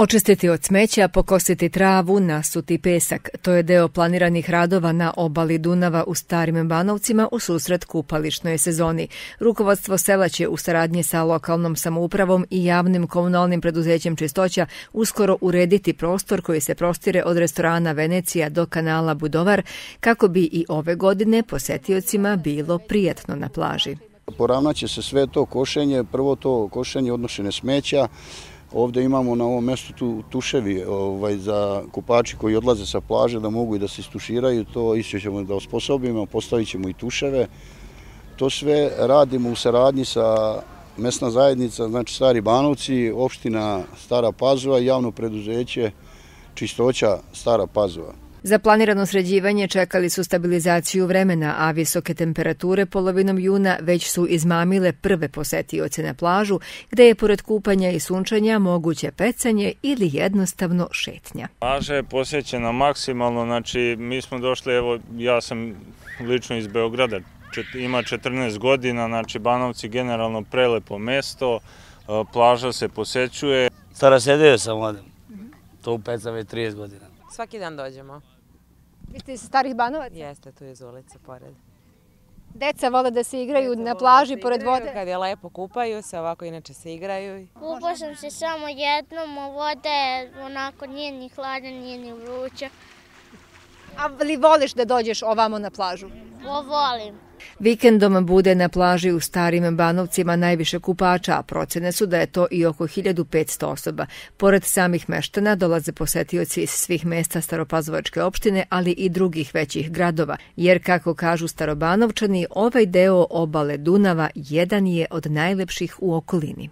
Očistiti od smeća, pokositi travu, nasuti pesak. To je deo planiranih radova na obali Dunava u Starim Banovcima u susret kupališnoj sezoni. Rukovodstvo sela će u saradnji sa lokalnom samoupravom i javnim komunalnim preduzećem Čistoća uskoro urediti prostor koji se prostire od restorana Venecija do kanala Budovar, kako bi i ove godine posetiocima bilo prijatno na plaži. Poravnaće se sve to košenje, prvo to košenje odnošene smeća. Ovdje imamo na ovom mjestu tuševi za kupači koji odlaze sa plaže da mogu i da se istuširaju, to isto ćemo da osposobimo, postavit ćemo i tuševe. To sve radimo u saradnji sa mesna zajednica, znači Stari Banovci, opština Stara Pazova i javno preduzeće Čistoća Stara Pazova. Za planirano sređivanje čekali su stabilizaciju vremena, a visoke temperature polovinom juna već su izmamile prve posetioce na plažu, gde je pored kupanja i sunčanja moguće pecanje ili jednostavno šetnja. Plaža je posećena maksimalno, znači mi smo došli, evo ja sam lično iz Beograda, ima 14 godina, znači Banovci generalno prelepo mesto, plaža se posećuje. Starasedio sam ovdje, to pecam već 30 godina. Svaki dan dođemo. Vi ste iz Starih Banovaca? Jeste, tu iz ulice pored. Deca vole da se igraju na plaži pored vode? Kad je lepo, kupaju se, ovako inače se igraju. Kupao sam se samo jednom, a voda je onako nije ni hladna, nije ni vruća. A li voliš da dođeš ovamo na plažu? Volim. Vikendom bude na plaži u Starim Banovcima najviše kupača, a procene su da je to i oko 1500 osoba. Pored samih meštana dolaze posetioci iz svih mesta Staropazovačke opštine, ali i drugih većih gradova, jer kako kažu Starobanovčani, ovaj deo obale Dunava jedan je od najlepših u okolini.